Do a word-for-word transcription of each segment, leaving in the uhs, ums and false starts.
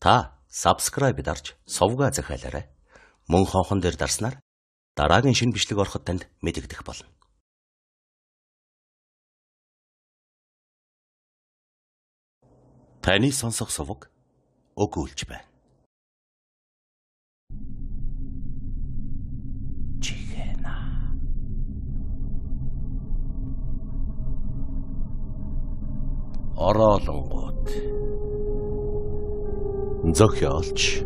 Та subscribe дарж сувгаа захиалаарай. Мөн хонхон дээр дарснаар дараагийн шинэ бичлэг ороход танд мэдэгдэх болно. Таны сонсох сувг өгүүлж байна. Чихэна. Ороолонгууд. Зохиолч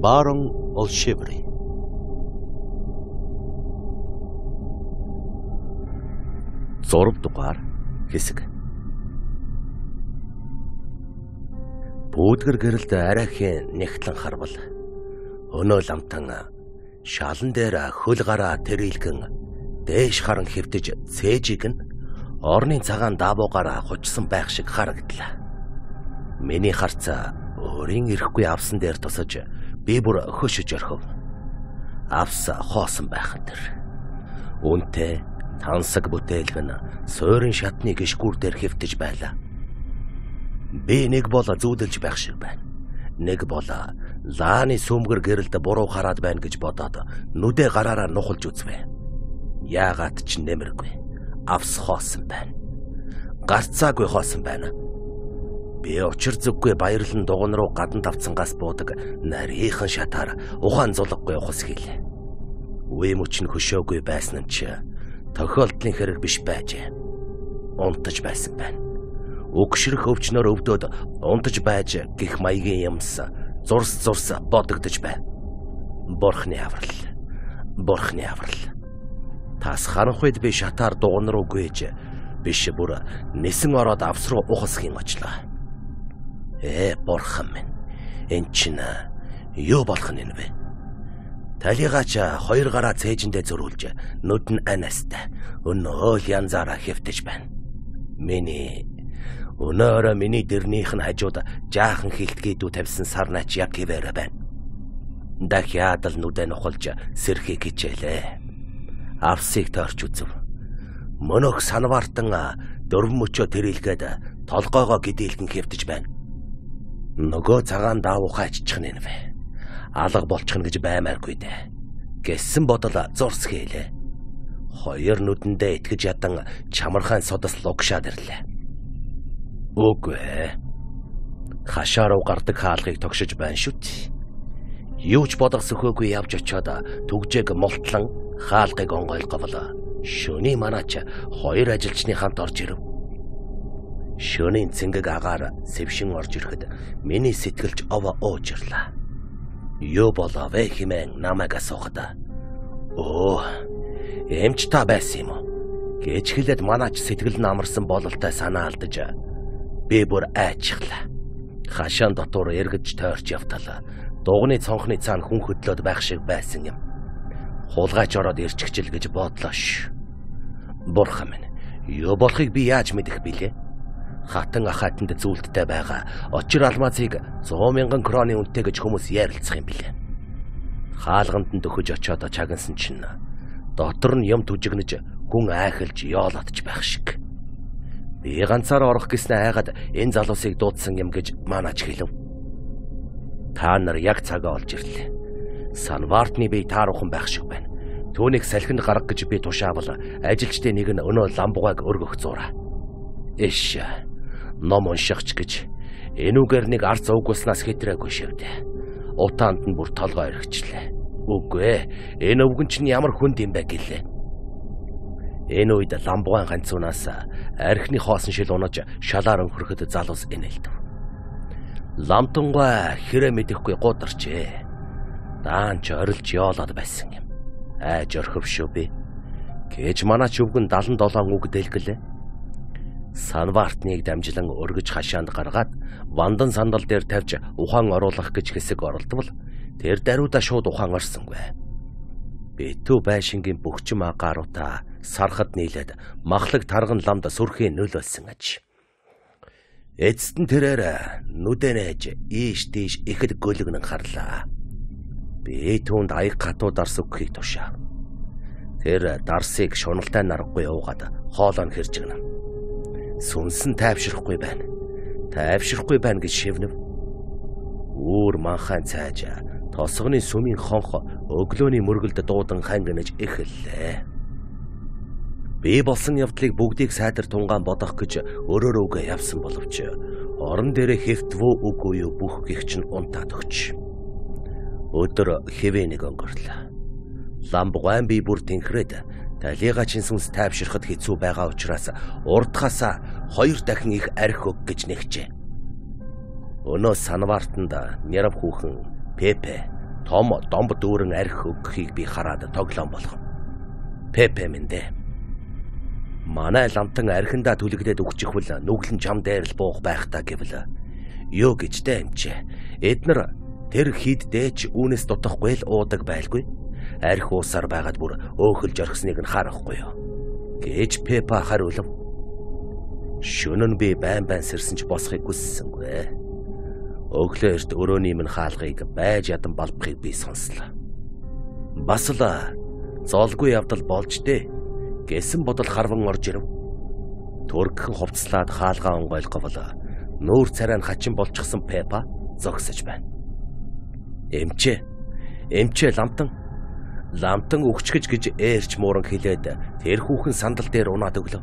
Барон Олшеври. Зураг дугаар хэсэг. Бүүдгэр гэрэлд арайхийн нэгтлэн харвал өнөө ламтан шалан дээр хөл гараа тэрэлгэн дээш харан хэвтэж цээжиг нь орны цагаан даавуугаараа хучсан байх шиг харагдлаа. Миний харц өөрийн ирэхгүй авсан дээр тусаж би бүр хөшөж орхив. Авс хоосон байхад тэр. Үнтэй тансаг бүтээлгэн суурин шатны гიშгүүр дээр хэвтэж байлаа. Би нэг бол зүүдэлж байх шиг байна. Нэг бол лааны сүмгэр гэрэлд буруу хараад байна гэж бодоод нүдэ гараараа нухалж үзвэ. Яагаад ч нэмэргүй. Авс хоосон байна. Гарцаагүй хоосон байна. Би учир зүггүй баярлан дугуун руу гадна тавцангаас буудаг нарийнхан шатаар ухаан зулгагүй ухас хийлээ. Үе мөч нь хөшөөгүй байсан нь ч тохиолдлын хэрэг биш байжээ. Унтаж байсан байна. Өгшрөх өвчнөр өвдөд унтаж байж гих маягийн юмс зурс зурс бодогдож байна. Бурхны аврал. Бурхны аврал. Тас харанхуйд би шатаар дугуун руу гүйж биш бүр нисэн ороод авс руу ухасхийн очлоо. Ээ бурхан минь. Энд чинь юу болох нь вэ? Талигаач хоёр гараа цээжиндээ зөрүүлж нүд нь анастай өнөөл янзаараа хэвтэж байна. Миний өнөөрөө миний дэрнийх нь хажууд жаахан хилтгийдүү тавьсан сарнаач яг хിവэрэ байна. Дахиад л нүдэ нухалж сэрхий хичээлээ. Авсыг таарч үзв. Мөнөх санваартан дөрвөн мөчөө тэрэлгээд толгоогоо гидээлгэн хэвтэж байна. Нөгөө цагаан даавуухай аччих нь вэ? Алга болчих нь гэж баймааргүй дээ. Гэсэн бодол зурс хийлээ. Хоёр нүдэндээ итгэж ядан чамархан содос лугшаад ирлээ. Үгүй. Хашаа руу гардаг хаалгыг тогшиж байна шүт. Юу ч бодох сөхөөгүй явж очиод түгжээг мултлан хаалгыг онгойлговлоо. Шөний манаач хоёр ажилчны хамт орж ирэв. Шөнийн цэнгэг агаар сэвшин орж ирэхэд миний сэтгэлж овоо уужирлаа. Юу болов вэ хэмээн намайг асуухад оо эмч та байсан юм уу гэж хэлээд манаач сэтгэл нь амарсан бололтой санаа алдаж би бүр айчихлаа. Хашаан дотор эргэж тойрч явтал дугны цонхны цаана хүн хөдлөөд байх шиг байсан юм. Хулгайч ороод ирчихжил гэж бодлоо ш. Бурхан минь, юу болохыг би яаж мэдэх билээ? Хатан ахайтанд зүйлдтэй байгаа очир алмазыг сто мянган кроны үнэтэй гэж хүмүүс ярилцах юм билээ. Хаалганд нь дөхөж очиод чагнасан чинь дотор нь юм түжигнэж гүн айхалж яолотж байх шиг. Би ганцаар орох гэснээ айгаад энэ залуусыг дуудсан юм гэж манаач хэлв. Та нар яг цагаа олж ирлээ. Санвартны бие тааруухан байх шиг байна. Түүнийг салхинд гарга гэж би тушаавал ажилчдын нэг нь өнөө ламбугайг өргөх зураа. Эш ном уншихч гэж энүүгээр нэг арц угуулснаас хэтрээгүй шивдэ. Утаанд нь бүр толгой өргөчлээ. Үгүй ээ, энэ өвгөн чинь ямар хүнд юм бэ гэлээ. Энэ үед ламбугаан ганцуунаас архины хоосон шил унаж шалаар өнхөрөхөд залуус инээлдэв. Ламтунгай хэрэг мэдэхгүй гударчээ. Даан ч орилж яолоод байсан юм. Айж орхив шүү би. Гэж манаач өвгөн дадлан долоон үг дэлгэлээ. Санвартныг дамжлан өргөж хашаанд гаргаад вандан сандал дээр тавьж ухаан оруулах гэж хэсэг оролдвол тэр даруйда шууд ухаан орсонгүй. Битүү байшингийн бөхчм агааруудаа сархад нийлээд махлаг тарган ламд сүрхийн нөлөөлсөн аж. Эцэст нь тэрээр нүдэнэж ийш тийш ихэд гөлгнэн харлаа. Би түүнд аяг хатуу дарс өгөхийг тушаа. Тэр дарсыг шуналтай нарахгүй уугаад хоолоо нь хэрж гэнэ. Сүнсэн тайвширахгүй байна. Тайвширахгүй байна гэж шивнэв. Үүр манхайн цайж тосгоны сүмийн хонх өглөөний мөргөлд дуудан хангинаж эхэллээ. Би болсон явдлыг бүгдийг сайдар тунгаан бодох гэж өрөөрөөгээ явсан боловч орон дээрээ хэвтвөө үгүй юу бүх гих чинь унтаад өгч. Өдөр хэвэнийг өнгөрлөө. Ламб гуайн би бүр тэнхрээд талига чин сүнс тайвширхад хэцүү байгаа учраас урдхасаа хоёр дахин их арх өг гэж нэгчээ. Өнөө санваартанд нярав хүүхэн Пепе том домб дүүрэн арх өгөхийг би хараад тоглоом болгов. Пепе минь дээ. Манай ламтан архиндаа түлэгдээд өгчихвэл нүглэн чам дээр л буух байх та гэвэл юу гэж дээ эмчээ. Эднэр тэр хид дээч үүнээс дутахгүй л уудаг байлгүй. Арх уусаар байгаад бүр өөхөлж орхисныг нь харахгүй юу гэж Пепа хариулв. Шөнө нь би байн байн сэрсэн ч босхийг хүссэнгүй. Өглөө эрт өрөөний минь хаалгыг байж ядан балбахыг би сонслоо. Бас л зоолгүй явдал болж дээ гэсэн бодол харван орж ирэв. Төргөн хувцлаад хаалгаа онгойлгов бол нүүр царай нь хачин болчихсон Пепа зогсож байна. Эмчээ, эмчээ ламтан, ламтан өгчгэж гэж ээрч мууран хэлээд тэр хүүхэн сандал дээр унаад өглөө.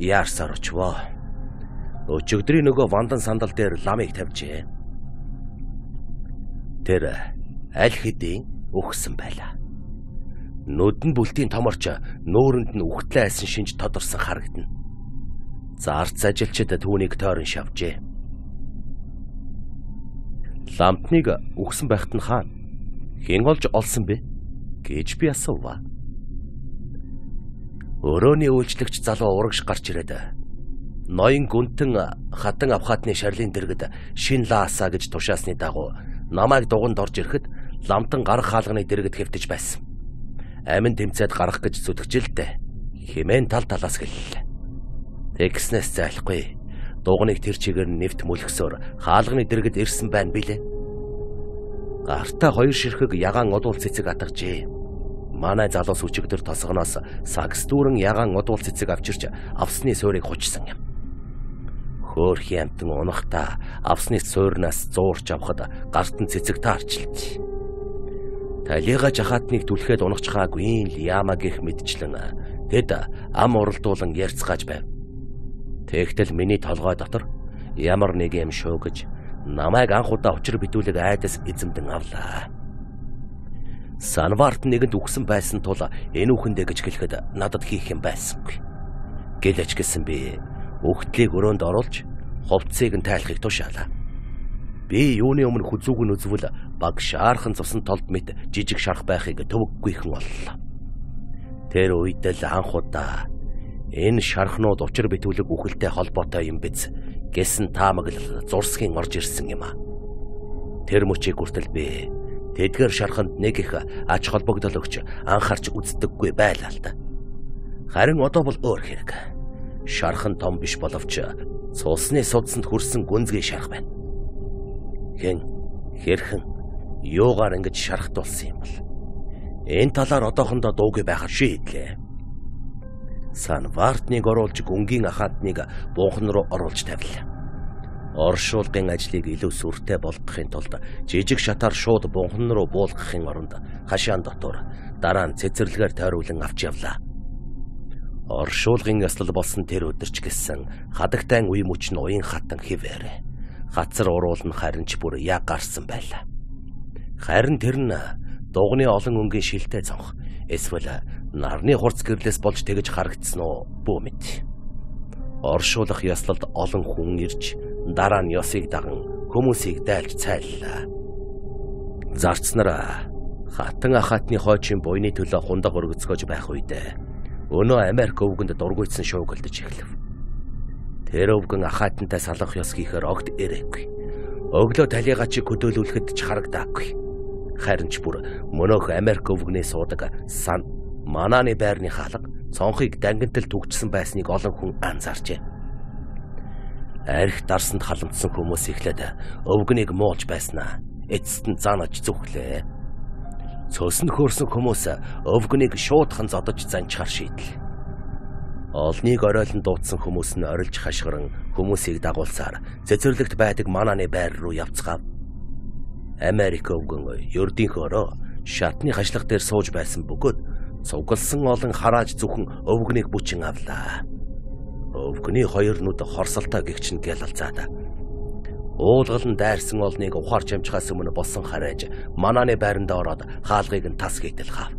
Яарсаар очвоо. Өчигдрийн нөгөө вандан сандал дээр ламыг тавьжээ. Тэр аль хэдийн өгсөн байлаа. Нүдэн бүлтийн томорч нүүрэнд нь үхтлээ айсан шинж тодорсон харагдана. Зарц ажилчид түүнийг тойрон шавжээ. Ламтныг өгсөн байхад нь хаана хэн олж олсон бэ гэж би асуув. Өрөөний үйлчлэгч залуу урагш гарч ирээд ноён гүнтэн хатан авхаатны шарлын дэргэд шин лаасаа гэж тушаасны дагуу намайг дуганд орж ирэхэд ламтан гарах хаалганы дэргэд хэвтэж байсан. Амин тэмцээд гарах гэж зүтгэжилтэй хэмээн тал талаас гэллээ. Тэгснээс зайлахгүй дуганыг тэр чигээр нэвт мөлгсөөр хаалганы дэргэд ирсэн байна билээ. Гартаа хоёр ширхэг ягаан удуул цэцэг атгажээ. Манай залуус өчигдөр тосгоноос сагс дүүрэн ягаан удуул цэцэг авчирч авсны суурийг хучсан юм. Хөөрхи амтан унахта авсны суурнаас зуурч авахд гарт нь цэцэг таарчлаа. Талига жахаатныг түлхээд унахчхаагүй л яама гэх мэдчлэн тэд ам уралдуулан ярьцгааж байв. Тэгтэл миний толгой дотор ямар нэг юм шуугж намайг анх удаа учир битүүлэг айдас эзэмдэн авлаа. Санварт нэгэнд үгсэн байсан тул энэ үхэндээ гэж хэлэхэд надад хийх юм байсангүй. Гэлэж гисэн би үхтлийг өрөөнд оруулж хувцсыг нь тайлахыг тушаалаа. Би юуны өмнө хүзүүг нь үзвэл баг шаархан цусан толд мэт жижиг шарх байхыг төвөггүйхэн боллоо. Тэр үед л анх удаа энэ шархнууд учир битүүлэг үхэлтэй холбоотой юм биз гэсэн таамаглал зурсхийн орж ирсэн юм а. Тэр мөчийг хүртэл би тэдгээр шарханд нэг их ач холбогдол өгч анхаарч үздэггүй байлаа л да. Харин одоо бол өөр хэрэг. Шархан том биш боловч цусны судсанд хүрсэн гүнзгий шарх байна. Хэн хэрхэн юугаар ингэж шархтуулсан юм бол энэ талаар одоохондоо дуугүй байхад шийдлээ. Санвартныг оруулж гүнгийн ахаатныг буухан руу оруулж тавилаа. Оршуулгын ажлыг илүү сүртэй болгохын тулд жижиг шатаар шууд бунхан руу буулгахын оронд хашаан дотор дараа нь цэцэрлэгээр тойруулан авч явлаа. Оршуулгын яслал болсон тэр өдөрч гисэн хадагтай үе мөч нь уян хатан хിവэрэ. Хацар уруулн харин ч бүр яг гарсан байлаа. Харин тэр нь дугны олон өнгийн шилтэй цонх эсвэл нарны хурц гэрлээс болж тэгж харагдсан уу бүү мэд. Оршуулах яслалд олон хүн ирж дараа нь ёсыг даган хүмүүсийг дайлж цайллаа. Зарцнараа хатан ахаатны хойчийн буйны төлөө хундаг өргөцгөж байх үедээ өнөө Америк өвгөнд дургуйцсан шуугилдэж эхлэв. Тэр өвгөн ахаатантай салах ёс хийхээр огт ирээгүй. Өглөө талига чи хөдөөлүүлэхэд ч харагдаагүй. Харин ч бүр мөнөөх Америк өвгөний суудаг сан манааны байрны хаалга цонхыг дангинтал түгчсэн байсныг олон хүн анзаарчээ. Арх дарсанд халамтсан хүмүүс ихлээд өвгөнийг муулж байснаа эцэст нь заанаж зүхлээ. Цөсөн хөөрсөн хүмүүс өвгөнийг шуудхан зодож занчхаар шийдлээ. Олныг оройлон дуудсан хүмүүс нь орилж хашгиран хүмүүсийг дагуулсаар цэцэрлэгт байдаг манааны байр руу явцгаав. Америк өвгөн ердийнхөөрөө шатны хашлах дээр сууж байсан бөгөөд цугласан олон харааж зөвхөн өвгөнийг бүчин авлаа. Өвгөний хоёр нүд хорсолтой гихчин гялалцаад уулгалан дайрсан олныг ухаарч амжихаас өмнө болсон харайж манааны байранд ороод хаалгыг нь тас хийтэл хав.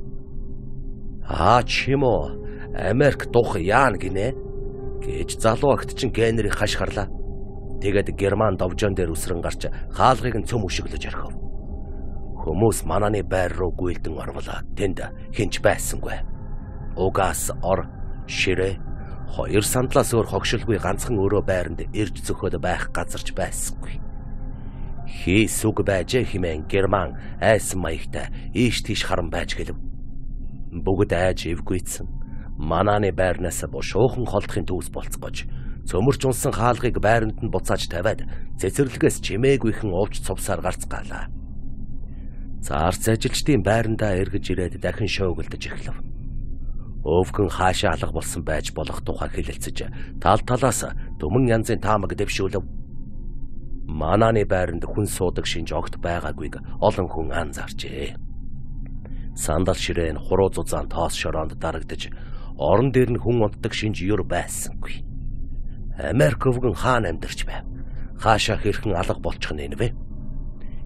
Аа чимо Америк дух яан гинэ гэж залуу агт чин генерийг хашгирлаа. Тэгээд Герман довжон дээр үсрэн гарч хаалгыг нь цөм өшөглөж орхив. Хүмүүс манааны байр руу гүйлдэн орволоо. Тэнд хинч байсангүй. Угаас ор ширээ хоёр сандлаас өөр хогшилгүй ганцхан өрөө байранд ирж зөхөд байх газарч байсангүй. Хийс үг байж химэн Герман айсан маягтай ийш тийш харан байж гэлв. Бүгд айж эвгүйцэн манааны байрнаас бушуухан холдохын төвс болцгож цөмөрч унсан хаалгыг байранд нь буцааж тавиад цэцэрлэгээс чимээгүйхэн ууж цувсаар гарцгаалаа. Заарц ажилчдын байрандаа эргэж ирээд дахин шуугилдож эхлэв. Өвгөн хаашаа алга болсон байж болох тухай хэлэлцэж тал талаас төмөн янзын таамаг дэвшүүлв. Манааны байранд хүн суудаг шинж огт байгаагүйг олон хүн анзаарчээ. Сандал ширээн хуруу зузаан тоос шороонд дарагдж орон дээр нь хүн унтдаг шинж юр байсангүй. Америк өвгөн хаан амьдарч байв. Хаашаа хэрхэн алга болчих нь вэ?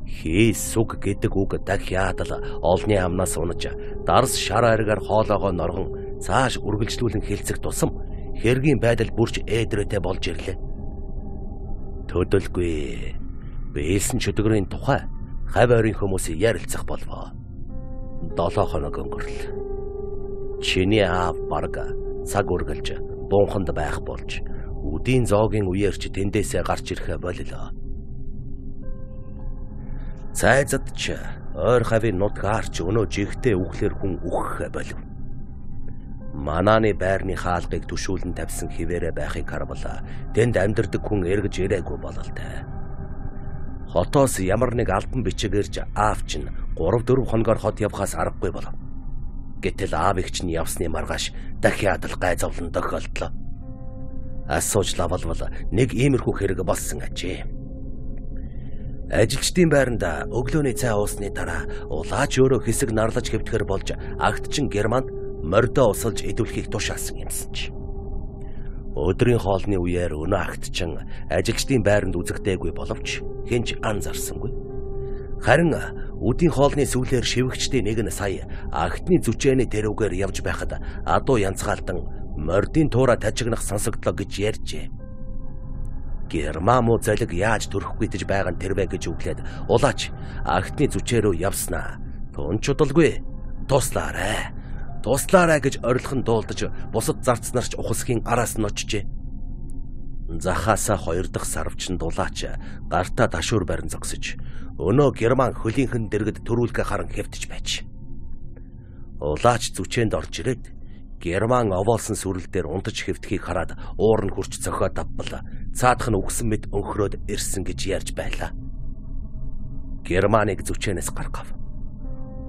Хийс үг гэдэг үг дахиад л олны амнаас унаж дарс шар аргаар хоолоогоо норгон цааш үргэлжлүүлэн хэлцэх тусам хэргийн байдал бүрч ээдрээтэй болж ирлээ. Төдөлгүй бэлсэн чөтгөрийн тухай хав ойрын хүмүүсийн ярилцах болвоо. Долоо хоног өнгөрлөө. Чиний аав барга цаг үргэлж буунханд байх болж үдийн зоогийн үеэрч тэндээсээ гарч ирэхэ боллоо. Цайзад ч ойр хавийн нутгаарч өнөө жигтэй үхлэр хүн үхэх болов. Манааны байрны хаалгыг төшүүлэн тавьсан хിവэрэ байхыг харвала. Тэнд амьдардаг хүн эргэж ирээгүй бололтой. Хотоос ямар нэг албан бичигэрж аавч нь гурав дөрвөн хоногор хот явхаас аргагүй болов. Гэтэл аав эгч нь явсны маргааш дахиад л гайзовлон тохиолдлоо. Асууж лавалвал нэг иймэрхүү хэрэг болсон ажээ. Ажилчдын байранда өглөөний цай уусны дараа улаач өөрөө хэсэг нарлаж хэвтгэр болж агтчин Германд мордоо усалж идэвхийг тушаасан юмсан ч. Өдрийн хоолны үеэр өнөө агтчин ажилчдын байранд үзэгдээгүй боловч хинч анзаарсангүй. Харин үдийн хоолны сүүлээр шивгчдийн нэг нь сая агтны зүчээний тэрүүгээр явж байхад адуу янцгаалдан мордын туура тажигнах сонсогдлоо гэж ярьжээ. Герман муу залиг яаж төрөхгүй гэж байгаа нь тэрвэ гэж үглээд улаач агтны зүчээ рүү явснаа. Тун чудалгүй. Туслаарай. Туслаарай гэж орилхон дуулдаж бусад зарцнарч ухасхийн араас нь очжээ. Захаасаа хоёр дахь сарвчин дулаач гартаа дашуур барин зогсож өнөө Герман хөлийнхэн дэргэд төрүүлгэ харан хэвтэж байж. Улаач зүчээнд орж ирээд Герман овоолсон сүрэл дээр унтаж хэвтхийг хараад уур нь хурч цохиод авбал цаадах нь үгсэн мэд өнхрөөд ирсэн гэж ярьж байлаа. Германыг зүчээнээс гаргав.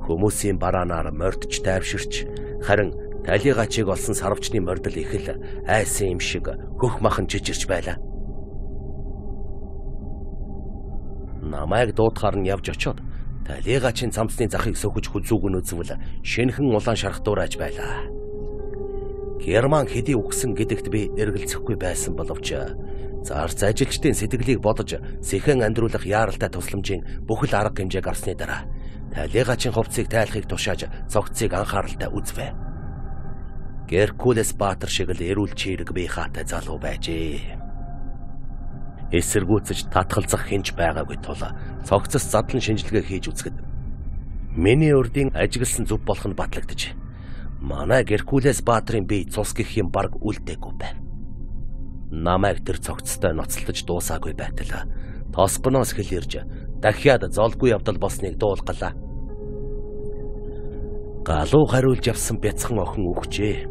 Хүмүүсийн бараанаар мордч тайвширч харин талигачиг олсон сарвчны мордол их л айсан юм шиг хөх махан жижирч байлаа. Намайг дуутахаар нь явж очоод талигачийн цамцны захыг сөхөж хүзүүг нь үзвэл шинхэн улаан шарах дуурайж байлаа. Герман хэдий үгсэн гэдэгт би эргэлзэхгүй байсан боловч зарц ажилчдын сэтгэлийг бодож сэхэн амьдруулах яаралтай тусламжийн бүхэл арга хэмжээг авсны дараа талигачийн хувцсыг тайлахыг тушааж цогцыг анхааралтай үзвэ. Геркулес Баатар шиг л эрүүл чирэг бие хаатай залуу байжээ. Эсэргүүцэж татгалзах хинч байгаагүй тул цогцос задлан шинжилгээ хийж үзэхэд миний урдын ажигласан зүв болох нь батлагдаж манай Геркулес Баатрын бие цус гэх юм баг үлдээгүй байв. Намайг тэр цогцтой ноцолдож дуусаагүй байтал тосгоноос хэл ирж дахиад золгүй явдал болсныг дуулгалаа. Галуу хариулж явсан бяцхан охин өгчээ.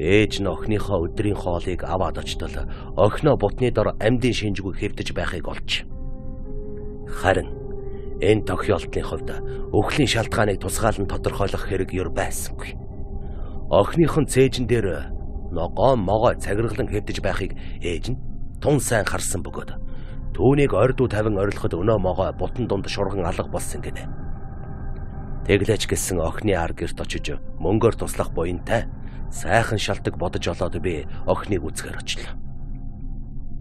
Ээж нь охиныхоо өдрийн хоолыг аваад очтол охиноо бутны дор амьдын шинжгүй хэвдэж байхыг олж. Харин энэ тохиолдлын хувьд өхлийн шалтгааныг тусгаалan тодорхойлох хэрэг юр байсангүй. Охиныхон цээжин дээр ногоо могоо цагиргалан хэвдэж байхыг ээж нь тун сайн харсан бөгөөд Түүнийг ордуу тавин орилоход өнөө могоо бутан дунд шурган алга болсон гинэ. Тэглэж гисэн охины ар гэрт очиж мөнгөөр туслах буянтай сайхан шалтак бодож олоод би охиныг үзгээр очлоо.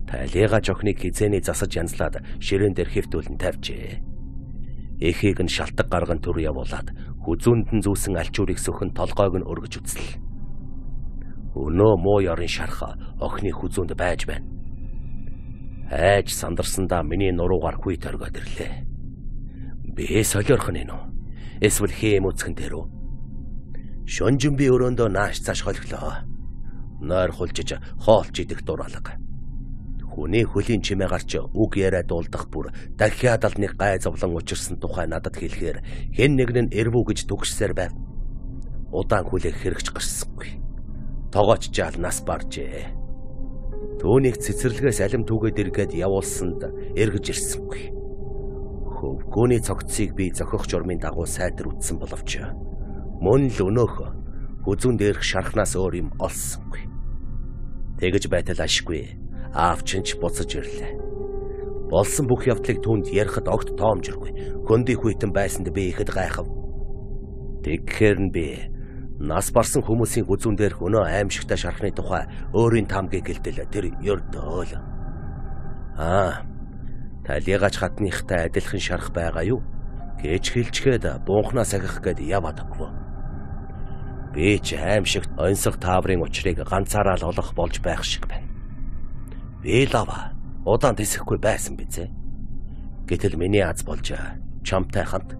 Талигаж охиныг хизээний засаж янзлаад ширээн дээр хэвтүүлэн тавьжээ. Эхийг нь шалтак гарган түр явуулаад хүзүүнд нь зүүсэн алчуурыг сөхөн толгойг нь өргөж үзлээ. Өнөө муу ёрын шарха охины хүзүүнд байж байна. Айж сандарсандаа миний нуруугаар хүй торгоод ирлээ. Би солиорхон энэ үү? Эсвэл хэм үцхэн дээр үү? Шонжин би өрөөндөө нааш цааш холглоо. Нойр хулжиж хоолч идэх дураалга. Хүний хөлийн чимээ гарч үг яриа дуулдах бүр дахиад л нэг гай зовлон учирсан тухай надад хэлэхээр хэн нэг нь эрвүү гэж түгшсээр байв. Удаан хүлээх хэрэгч гарсангүй. Тогооч жаал нас баржээ. Түүнийг цэцэрлэгээс алим түгээд эргээд явуулсанд эргэж ирсэнгүй. Хөвгөөний цогцыг би зохих журмын дагуу сайтар үтсэн боловч мөн л өнөөх хүзүүн дээрх шархнаас өөр юм олсонгүй. Тэгэж байтал ашгүй аавчинч буцаж ирлээ. Болсон бүх явдлыг түүнд ярихад огт тоомжиргүй. Хөндөй хүйтэн байсанд би ихэд гайхав. Тэгэхээр нь би нас барсан хүмүүсийн хүзүүн дээрх өнөө аимшигтай шархны тухай өөрийн таамгийг гэлдэл тэр ёрдөө л. Аа, талигач хатныхтай адилхан шарх байгаа юу? Гэж хэлчгээд буунхнаас агих гээд яваад өгвөө. Би ч аимшигт онцгой тааврын учрыг ганцаараа л олох болж байх шиг байна. Би лава удаан тэсэхгүй байсан бизээ. Гэтэл миний аз болж чамтай хамт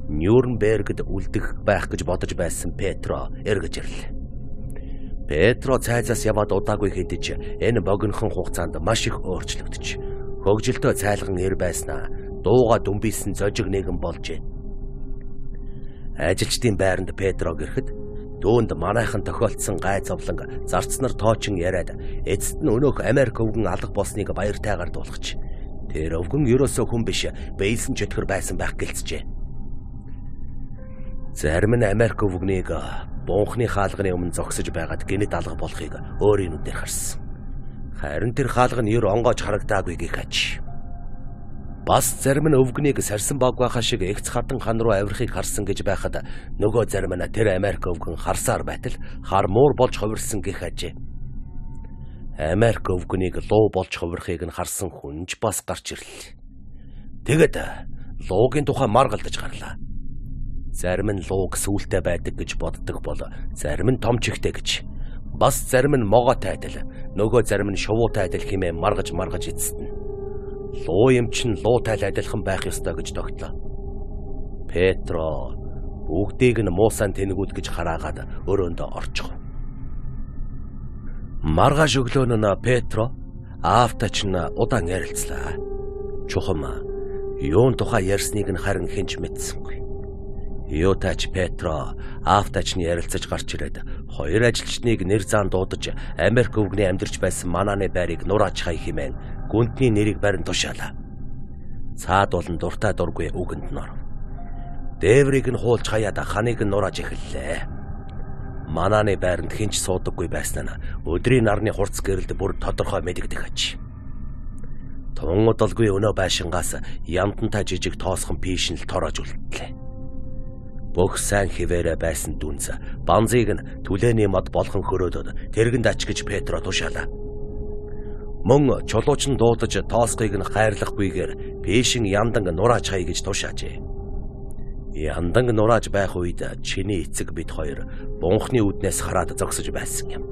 Нюрнбергд үлдэх байх гэж бодож байсан Петро эргэж ирлээ. Петро цайзаас яваад удаагүй хэдэж энэ богинохон хугацаанд маш их өөрчлөгдөж, хөгжилтөө цайлган ир байснаа дууга дүмбийсэн зожиг нэгэн болжээ. Ажилчдын байранд Петро гэрэхэд дөөнд манайхан тохиолдсон гай зовлон зарцнаар тоочин яриад эцэст нь өнөөх Америк өвгөн алга болсныг баяртайгаар дуулгач. Тэр өвгөн ерөөсөө хүн биш, бэйсэн чөтгөр байсан байх гэлцжээ. Зарим нь Америк өвгнийг буунхны хаалганы өмнө зогсож байгаад гинэд алга болохыг өөрийн нүдээр харсан. Харин тэр хаалга нь ер онгоож харагдаагүй гэх аж. Бас зарим нь өвгнийг сарсан багвахаа шиг эгц хатан хан руу авирахыг харсан гэж байхад нөгөө зарим нь тэр Америк өвгөн харсаар байтал хар муур болж хувирсан гэх ажээ. Америк өвгнийг луу болж хувирахыг нь харсан хүнж бас гарч ирлээ. Тэгэд луугийн тухай маргалдаж гарлаа. Зарим нь лууг сүултэй байдаг гэж боддог бол зарим нь том чихтэй гэж. Бас зарим нь могоотой адил, нөгөө зарим нь шувуутай адил хэмээн маргаж маргаж эцэстэн. Луу юм чин луутай адилхан байх ёстой гэж тогтлоо. Петро бүгдийг нь муусан тэнэгүүд гэж хараагаад өрөөндөө орчихов. Маргааш өглөө нь Петро аавтач нь удаан ярилцлаа. Чухам юун тухай ярьсныг нь харин хинч мэдсэнгүй. Юутач Петро аавтач нь ярилцаж гарч ирээд хоёр ажилчныг нэр зан дуудаж Америк өвгний амьдарч байсан манааны байрыг нурааж хай хэмээн гүндний нэрийг барин тушаалаа. Цаад болон дуртай дургүй үгэнд нь оров. Дээврийг нь хуулж хаяад ханыг нь нурааж эхэллээ. Манааны байранд хинч суудаггүй байснаа өдрийн нарны хурц гэрэлд бүр тодорхой мэдэгдэх аж. Тун удалгүй өнөө байшингаас ямтантай жижиг тоосхон пишин л тороож үлдлээ. Бүх сайн хിവэрэ байсан дүнз банзыг нь түлээний мод болгон хөрөөдөд тэргэнд ачгиж Петро тушаалаа. Мөн чулууч нь дуудаж тоосхыг нь хайрлахгүйгээр пишин яндан нурааж хай гэж тушаажээ. Яндан нурааж байх үед чиний эцэг бид хоёр бунхны үднээс хараад зогсож байсан юм.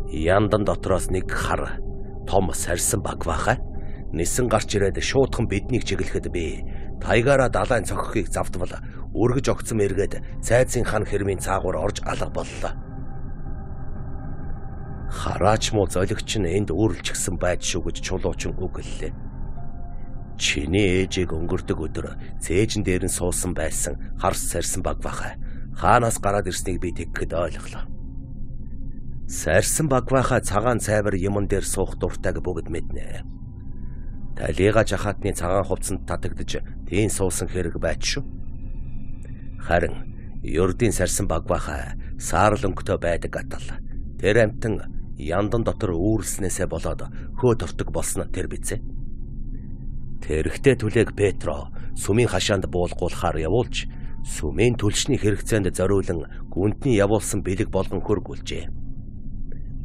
Яндан дотроос нэг хар том сарсан багвахаа нисэн гарч ирээд шуудхан биднийг чиглэхэд би тайгаараа далайн цохихыг завдвал үргэж огцом эргээд цайзын хан хэрмийн цаагуур орж алга боллоо. Хараач муу золигч нь энд үүрлчихсэн байж шүү гэж чулуучин үгэллээ. Чиний ээжийг өнгөрдөг өдөр цээжин дээр нь суусан байсан харс сарсан багвахаа хаанаас гараад ирснийг би тэгэхэд ойлголоо. Сарсан багвахаа цагаан цайвар юмн дээр суух дуртайг бүгд мэднэ. Талига жахаатны цагаан хувцсанд татагдж тийм суусан хэрэг байж шүү. Харин ердийн сарсан багвахаа саарл өнгөтэй байдаг атал тэр амтан яндан дотор үүрлснээсээ болоод хөө тортог болсон тэр бизээ. Тэрхтээ түлээг Петро сүмийн хашаанд буулгуулахаар явуулж, сүмийн түлшний хэрэгцээнд зориулан гүндний явуулсан бэлэг болгон хөргүүлжээ.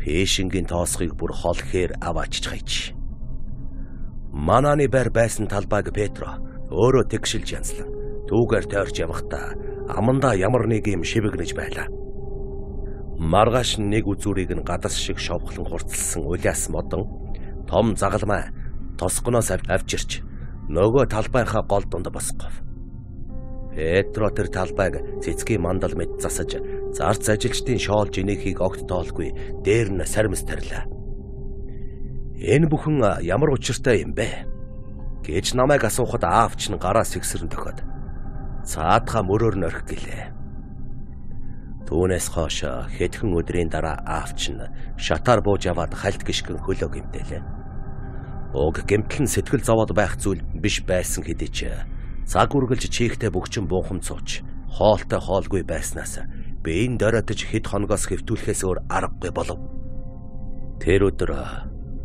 Пэшингийн тоосхыг бүр холхээр аваачж хайж. Манааны байр байсан талбайг Петро өөрөө тэгшилж янзлан түүгээр тойрч явахдаа амандаа ямар нэг юм шивгэнэж байлаа. Маргааш нэг үзүүрийг нь гадас шиг шовхлон хурцлсан улаас модон том загалмай тосгоноос авчирч нөгөө талбайхаа гол дунд босгов. Петро тэр талбайг цэцгийн мандал мэд засаж зарц ажилчдын шоол жинэхийг огт тоолгүй дээр нь сармис тарилаа. Энэ бүхэн ямар учиртай юм бэ гэж намайг асуухад аавч нь гараа сэгсэрэн тохиод цаадхаа мөрөөр нь орхи гэлээ. Түүнээс хойш хэдхэн өдрийн дараа аавч нь шатаар бууж аваад хальт гიშгэн хөлөө гэмтэлээ. Уг гэмтэл нь сэтгэл зовоод байх зүйл биш байсан хэдий ч цаг үргэлж чийхтэй бөгчөн буухам цууч хоолтой хоолгүй байснаас биеийн дороотож хэд хоногоос хэвтүүлэхээс өөр аргагүй болов. Тэр өдөр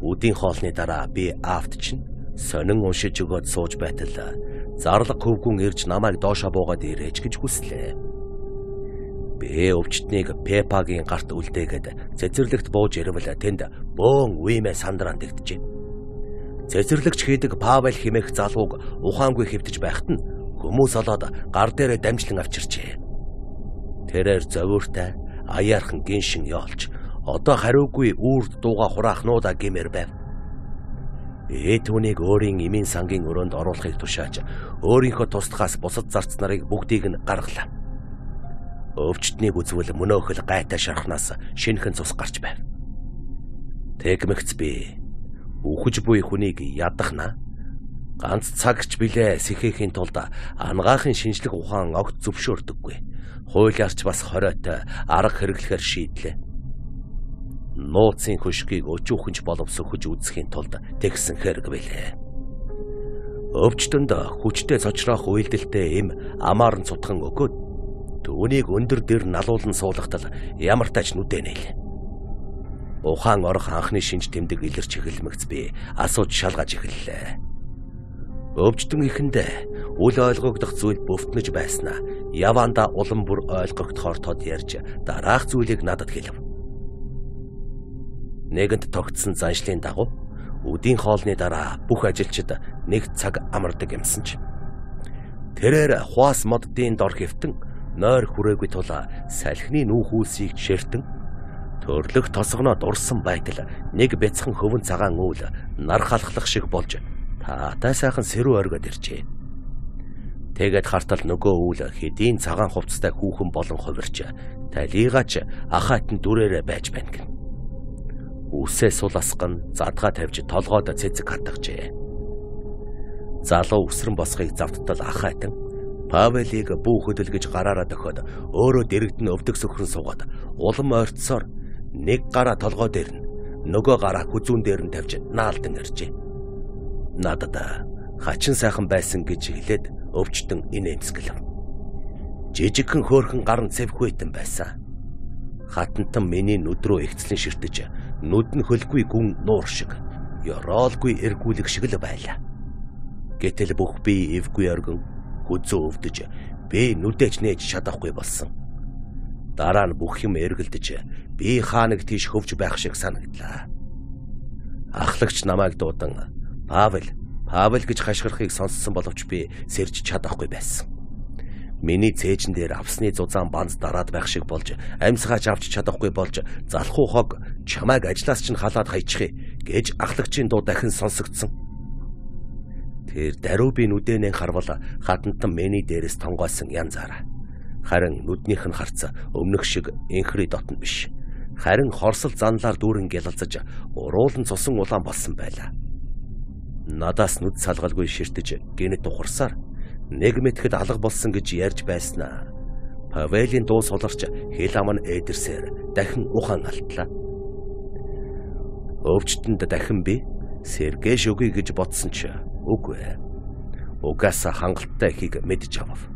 үдийн хоолны дараа би аавт чинь сонин уншиж өгөөд сууж байтал зарлаг хөвгүн ирж намайг доошоо буугаад ирээж гэж хүслээ. Би өвчтнийг Пепагийн гарт үлдээгээд цэцэрлэгт бууж ирвэл тэнд бөөн үемээ сандран дэгдэжээ. Цэцэрлэгч хийдэг Павел хэмээх залууг ухаангүй хэвтэж байхад нь хүмүүс олоод гар дээрээ дамжлан авчирчээ. Тэрээр зовиортай аяархан гиншин яолж одоо хариугүй үрд дууга хураахнуудаа гэмээр байв. Би түүнийг өөрийн эмийн сангийн өрөөнд оруулахыг тушааж өөрийнхөө тусдахаас бусад зарц нарыг бүгдийг нь гаргалаа. Өвчтнийг үзвэл мөнөөхөл гайтай шархнаас шинхэн цус гарч байв. Тэгмэгц би үхэж буй хүнийг ядахна. Ганц цагч билээ сэхээхийн тулд ангаахын шинжлэх ухаан огт зөвшөөрдөггүй. Хуулиарч бас хориотой арга хэрэглэхээр шийдлээ. Нууцын хөшгийг өчүүхэнч боловсөхөж үзэхийн тулд тэгсэн хэрэг билээ. Өвчтөнд хүчтэй цочроох үйлдэлтэй эм амаар нь цутхан өгөөд түүнийг өндөр дэр налуулан суулгатал ямар тач нүдэнэл. Ухаан орох анхны шинж тэмдэг илэрч эхэлмэгц би асууж шалгаж эхэллээ. Өвчтөн ихэндээ үл ойлгогдох зүйл бөвтнөж байснаа яванда улам бүр ойлгогдохоор тод ярьж дараах зүйлийг надад хэлв. Нэгэнт тогтсон заншлын дагуу үдийн хоолны дараа бүх ажилчид нэг цаг амардаг юмсан ч тэрээр хуас моддын дор хэвтэн нойр хүрээгүй тул салхины нүүх үлсийг ширтэн төрлөх тосгоноо дурсан байтал нэг бяцхан хөвөн цагаан үйл нар халахлах шиг болж таатай сайхан сэрүү оргоод иржээ. Тэгээд хартал нөгөө үйл хэдийн цагаан хувцастай хүүхэн болон хувирч талийгаач ахайтан дүрээрээ байж байна гэн. Үсээ сул асган задгаа тавьж толгойд цэцэг хатгажээ. Залуу өсрөн босхийг завттал ахайтан Павелийг бүү хөдөлгөж гараараа дохиод өөрөө дэрэгдэн өвдөг сөхрөн суугаад улам ойртсоор нэг гараа толгой дээр нь нөгөө гараа хүзүүн дээр нь тавьж наалдан иржээ. Надад хачин сайхан байсан гэж хэлээд өвчтөн инээмсгэлв. Жижигхэн хөөрхөн гар нь цэвхвэйтэн байсан. Хатантан миний нүд рүү ихцлэн ширтэж нүд нь хөлгүй гүн нуур шиг ёроолгүй эргүүлэг шиг л байлаа. Гэтэл бүх би эвгүй оргон хүзүү өвдөж би нүдэж нээж чадахгүй болсон. Дараа нь бүх юм эргэлдэж би хаа нэг тийш хөвж байх шиг санагдлаа. Ахлагч намайг дуудан Павел, Павел гэж хашгирахыг сонссон боловч би сэрж чадахгүй байсан. Миний цээжин дээр авсны зузаан банз дараад байх шиг болж амьсгаач авч чадахгүй болж залхуу хог чамайг ажлаас чинь халаад хайчихъя гэж ахлагчийн дуу дахин сонсогдсон. Тэр даруй би нүдэнээ харвал хатантан миний дээрээс тонгойсон янзаараа. Харин нүднийх нь харц өмнөх шиг инхри дотн биш. Харин хорсол занлаар дүүрэн гялалзаж уруулан цусан улаан болсон байлаа. Надаас нүд салгалгүй ширтэж гинэт ухарсаар нэг мэтгэд алга болсон гэж ярьж байснаа. Павелийн дуу суларч хэл ам нь эдэрсээр дахин ухаан алтлаа. Өвчтөнд дахин би Сергей шүгий гэж бодсон ч үгүй. Угаасаа хангалттай ихийг мэдж авав.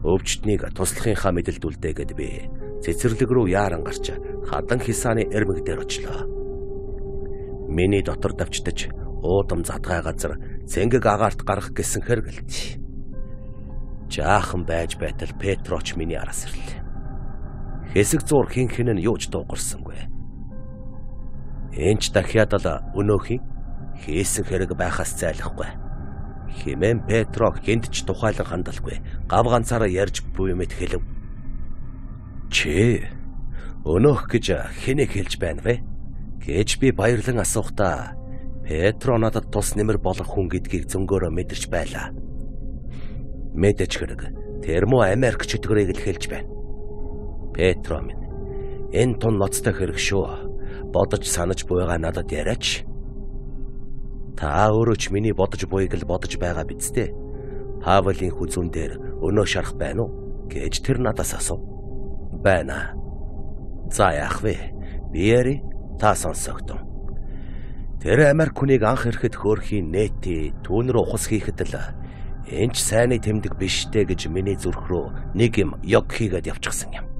Өвчтнийг туслахынхаа мэдэлд үлдээгээд би цэцэрлэг рүү яаран гарч хадан хисааны эрмэг дээр очлоо. Миний дотор давчдаж уудам задгай газар цэнгэг агаарт гарах гэсэн хэргэлт. Жаахан байж байтал Петроч миний араас ирлээ. Хэсэг зур хин хин нь юуж дуугарсангүй. Энч дахиад л өнөөхий хийсэн хэрэг байхаас зайлахгүй. Химэн Петро хэнд ч тухайлан хандалгүй. Гав ганцаараа ярьж буй мэт хэлв. Чи өнөөх гэж хэнийг хэлж байна вэ? Гэж би баярлан асуухтаа Петро надад тус нэмэр болох хүн гэдгийг зөнгөөрөө мэдэрч байлаа. Мэдэж хэрэг термо Америк чөтгөрийг л хэлж байна. Петро минь энэ тун ноцтой хэрэг шүү. Бодож санаж буйгаа надад яриач. Та өөрөө ч миний бодож буйг л бодож байгаа биз дээ. Павлийн хүзүүн дээр өнөө шарах байна уу? Гэж тэр надаас асуув. Байна. За яах вэ? Би яри та сонсогдсон. Тэр Америк хүнийг анх ирэхэд хөөрхийн нээти түүн рүү ухас хийхэд л энэч сайнны тэмдэг биштэй гэж миний зүрх рүү нэг юм ёг хийгээд явчихсан юм.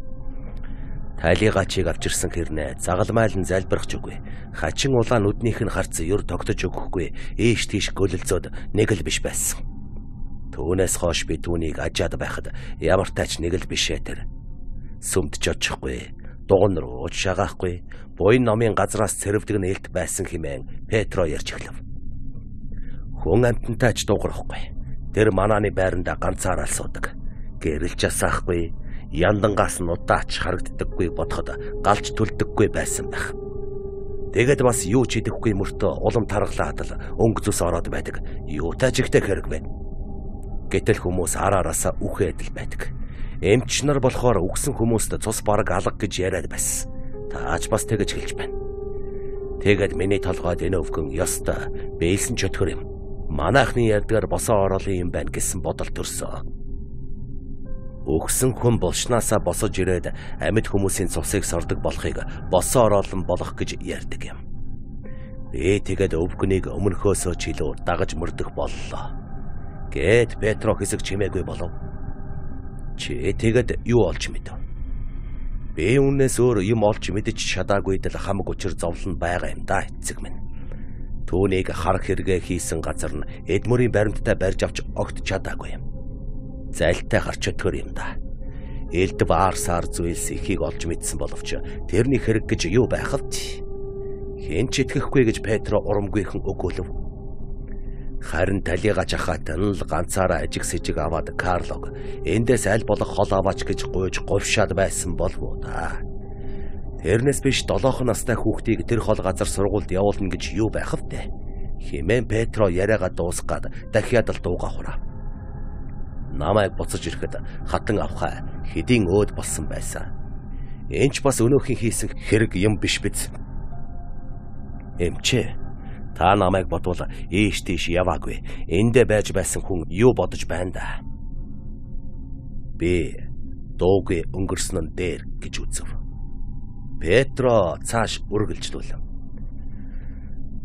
Тайлигачийг авчирсан хэрнээ загалмайлан залбирах ч үгүй. Хачин улаан нүднийх нь харц ер тогтож өгөхгүй. Ийш тийш гөлөлцөөд нэг л биш байсан. Түүнээс хойш би түүнийг ажаад байхад ямар тач нэг л бишээ тэр. Сүмд ч очихгүй. Дуган руу уж шагаахгүй. Буян номын газраас цэрвдэг нээлт байсан хэмээн Петро ярьж эхлэв. Хүн амтантай ч дуурахгүй. Тэр манааны байранда ганцаараа суудаг. Гэрэлж асаахгүй. Яндангаас нь удаач харагддаггүй бодоход галж төлдөггүй байсан байх. Тэгэд бас юу ч идэхгүй мөртөө улам таргалаад л өнгө зүс ороод байдаг. Юутай жигтэй хэрэг вэ? Гэтэл хүмүүс араараасаа үхээд л байдаг. Эмч нар болохоор үгсэн хүмүүст цус бараг алга гэж яриад байсан. Таач бас тэгэж хэлж байна. Тэгэд миний толгойд энэ өвгөн ёстой бэлсэн чөтгөр юм. Манайхны ярьдгаар босоо ороолын юм байна гэсэн бодол төрсөн. Өгсөн хүн болшнаасаа босож ирээд амьд хүмүүсийн цусыг сордог болохыг босоо ороолон болох гэж ярьдаг юм. Би тэгээд өвгөнийг өмнөхөөсөө ч илүү дагаж мөрдөх боллоо. Гэт Петро хэсэг чимээгүй болов. Чи тэгээд юу олж мэдэв? Би үнээс өөр юм олж мэдэж чадаагүй дэл хамаг учир зовлон байгаа юм да эцэг минь. Түүнийг харах хэрэгэ хийсэн газар нь Эдмөрийн баримттай барьж авч огт чадаагүй юм. Зайлтай гарч өтгөр юм да. Элд баар сар зүйлс ихийг олж мэдсэн боловч тэрний хэрэг гэж юу байх вэ? Хэн ч итгэхгүй гэж Петро урамгүйхэн өгөөлөв. Харин талигач ахаад нь л ганцаараа ажиг сэжиг аваад Карлог эндээс аль болох хол аваач гэж гуйж говьшаад байсан болов уу та. Тэрнээс биш долоохон настай хүүхдийг тэр хол газар сургуульд явуулна гэж юу байх вэ? Химэн Петро яриагаа дуусгаад дахиад л дууга хураа. Намайг буцаж ирэхэд хатан авхаа хэдийн өөд болсон байсан. Энч бас өнөөхийн хийсэн хэрэг юм биш биз? Эмчээ, та намайг бодвол ийш тийш яваагүй. Эндэ байж байсан хүн юу бодож байна да? Би дуугүй өнгөрсөн нь дээр гэж үзв. Петро цааш үргэлжлүүлв.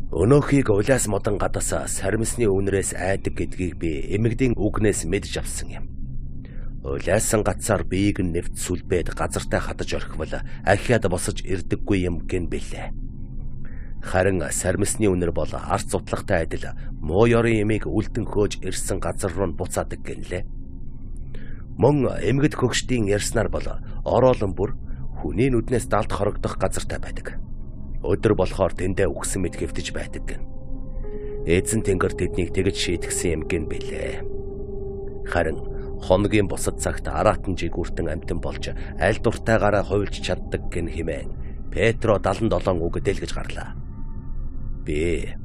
Өнөөхийг улаас модон гадаасаа сармисны үнрээс айдаг гэдгийг би эмэгдийн үгнээс мэдж авсан юм. Улаасан гацаар биеийг нь нэвт сүлбээд газартай хатаж орхивол ахиад босож ирдэггүй юм гэн бэлээ. Харин сармисны үнэр бол арц зутлагтай адил муу ёрын эмийг үлдэн хөөж ирсэн газар руу буцаадаг гэнлээ. Мөн эмгэд хөгшдийн ярьснаар бол ороолон бүр хүний нүднээс далд хорогдох газартай байдаг. Өдөр болохоор тэндээ үгсэн мэд хэвтэж байдаг гэн. Эзэн тэнгэр тэднийг тэгж шийтгсэн юм гэн бэлээ. Харин хоногийн бусад цагт араатан жигүүртэн амтан болж аль дуртайгаараа хувилж чаддаг гэн хэмээн Петро дадан долоон үг дэлгэж гарлаа. Би